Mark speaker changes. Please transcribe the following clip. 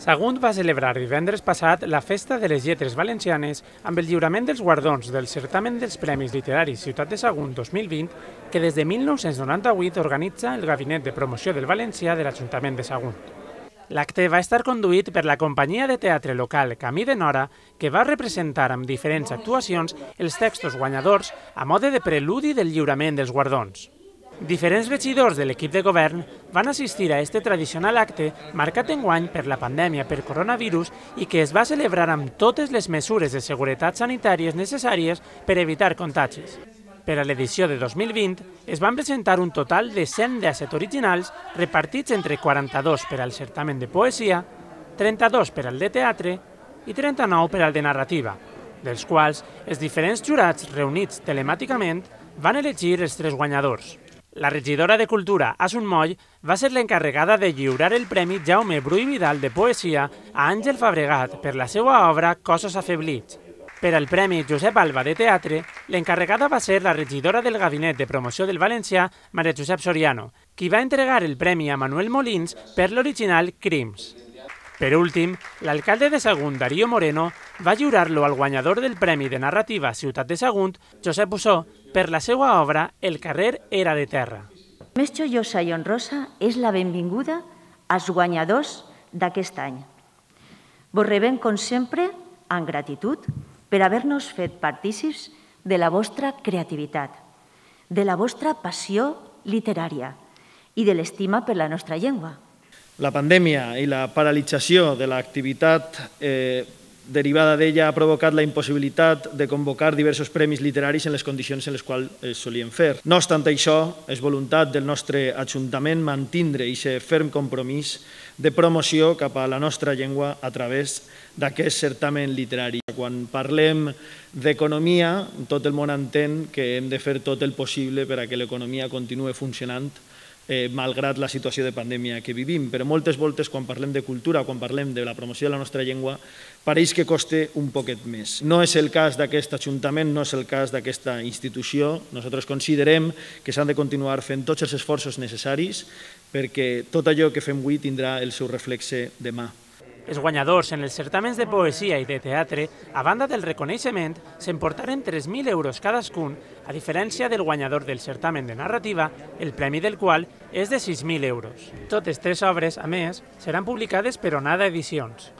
Speaker 1: Sagunt va celebrar divendres passat la Festa de les Lletres Valencianes amb el lliurament dels guardons del certamen dels Premis Literaris Ciutat de Sagunt 2020 que des de 1998 organitza el Gabinet de Promoció del Valencià de l'Ajuntament de Sagunt. L'acte va estar conduït per la companyia de teatre local Camí de Nora, que va representar amb diferents actuacions els textos guanyadors a mode de preludi del lliurament dels guardons. Diferents regidors de l'equip de govern van assistir a este tradicional acte marcat enguany per la pandèmia per coronavirus i que es va celebrar amb totes les mesures de seguretat sanitàries necessàries per evitar contagis. Per a l'edició de 2020 es van presentar un total de 117 originals repartits entre 42 per al certamen de poesia, 32 per al de teatre i 39 per al de narrativa, dels quals els diferents jurats reunits telemàticament van elegir els 3 guanyadors. La regidora de Cultura, Asun Moll, va ser l'encarregada de lliurar el Premi Jaume Bru i Vidal de Poesia a Àngel Fabregat per la seva obra Cossos afeblits. Per al Premi Josep Alba de Teatre, l'encarregada va ser la regidora del Gabinet de Promoció del Valencià, Maria Josep Soriano, qui va entregar el premi a Manuel Molins per l'original Crims. Per últim, l'alcalde de Sagunt, Darío Moreno, va lliurar-lo al guanyador del Premi de Narrativa Ciutat de Sagunt, Josep Bussó, per la seva obra El carrer era de terra.
Speaker 2: Més joiosa i honrosa és la benvinguda als guanyadors d'aquest any. Vos rebem, com sempre, amb gratitud per haver-nos fet partícips de la vostra creativitat, de la vostra passió literària i de l'estima per la nostra llengua.
Speaker 3: La pandèmia i la paralització de l'activitat derivada d'ella ha provocat la impossibilitat de convocar diversos premis literaris en les condicions en les quals es solien fer. No obstant això, és voluntat del nostre Ajuntament mantindre aquest ferm compromís de promoció cap a la nostra llengua a través d'aquest certamen literari. Quan parlem d'economia, tot el món entén que hem de fer tot el possible per a que l'economia continuï funcionant malgrat la situació de pandèmia que vivim. Però moltes voltes, quan parlem de cultura, quan parlem de la promoció de la nostra llengua, pareix que costa un poquet més. No és el cas d'aquest Ajuntament, no és el cas d'aquesta institució. Nosaltres considerem que s'han de continuar fent tots els esforços necessaris perquè tot allò que fem avui tindrà el seu reflexe demà.
Speaker 1: Els guanyadors en els certàmens de poesia i de teatre, a banda del reconeixement, s'emportaren 3.000 euros cadascun, a diferència del guanyador del certamen de narrativa, el premi del qual és de 6.000 euros. Totes 3 obres, a més, seran publicades per Onada Edicions.